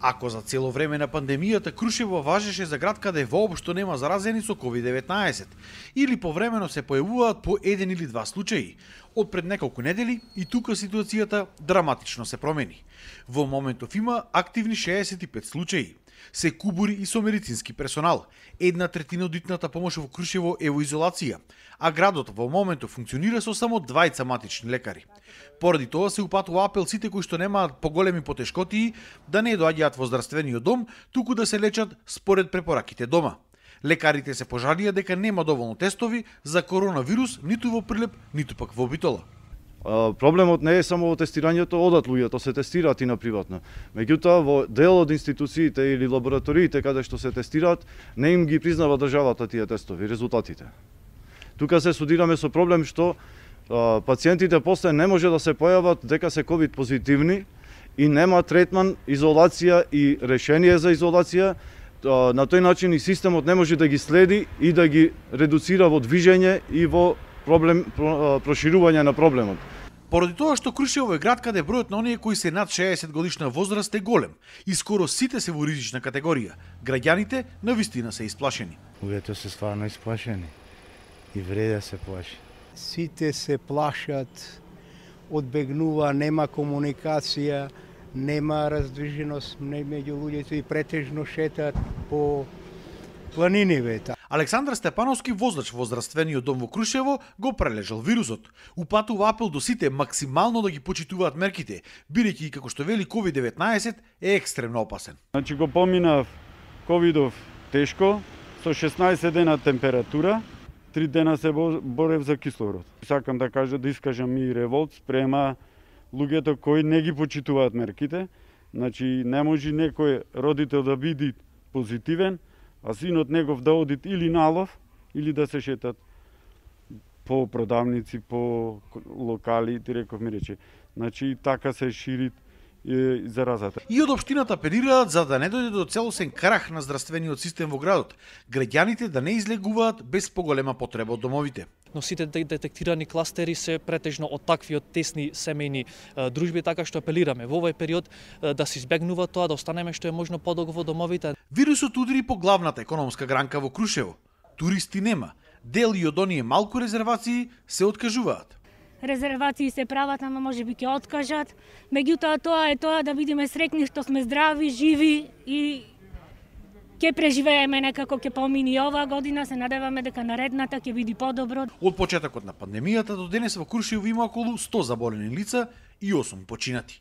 Ако за цело време на пандемијата Крушево важеше за град каде воопшто нема заразени со COVID-19 или повремено се појавуваат по еден или два случаи, од пред неколку недели и тука ситуацијата драматично се промени. Во моментов има активни 65 случаи. Се кубури и со медицински персонал. 1/3 од итната помош во Крушево е во изолација, а градот во моментов функционира со само 2 матични лекари. Поради тоа се упатува апел сите кои што немаат поголеми потешкотии да не доаѓаат во здравствениот дом, туку да се лечат според препораките дома. Лекарите се пожалија дека нема доволно тестови за коронавирус ниту во Прилеп, ниту пак во Битола. Проблемот не е само во тестирањето, одат луѓето, се тестираат и на приватно. Меѓутоа, во дел од институциите или лабораториите каде што се тестираат, не им ги признава државата тие тестови, резултатите. Тука се судираме со проблем што пациентите после не може да се појават дека се ковид позитивни и нема третман, изолација и решение за изолација. На тој начин и системот не може да ги следи и да ги редуцира во движење и во проширување на проблемот. Поради тоа што Крушево е град каде бројот на оние кои се над 60 годишна возраст е голем и скоро сите се во ризична категорија, граѓаните навистина се исплашени. Луѓето се стварно исплашени и вреде се плаши. Сите се плашат, одбегнува, нема комуникација, нема раздвиженост меѓу луѓето и претежно шетат по планиниве. Александар Степановски, воздач во здравствениот дом во Крушево, го прележал вирусот. Упатува апел до сите максимално да ги почитуваат мерките, бидејќи како што вели COVID-19 е екстремно опасен. Значи го поминав ковидов тешко, со 16 дена температура, 3 дена се борев за кислород. Сакам да кажа, да искажам и револт спрема луѓето кои не ги почитуваат мерките. Значи не може некој родител да биде позитивен, а синот негов да одит или на лов, или да се шетат по продавници, по локали, ти реков ми рече. Значи така се шири заразата. И од општината апелираат за да не дојде до целосен крах на здравствениот систем во градот, граѓаните да не излегуваат без поголема потреба од домовите. Но сите детектирани кластери се претежно од такви од тесни семејни дружби, така што апелираме во овој период да се избегнува тоа, да останеме што е можно подолго во домовите. Вирусот удри по главната економска гранка во Крушево. Туристи нема. Дел и од оние малку резервации се откажуваат. Резервации се прават, ама може би ќе откажат. Меѓутоа тоа е тоа да бидеме среќни што сме здрави, живи и ќе преживееме некако, ќе помини оваа година, се надеваме дека наредната ќе биде подобро. Од почетокот на пандемијата до денес во Крушево има околу 100 заболени лица и 8 починати.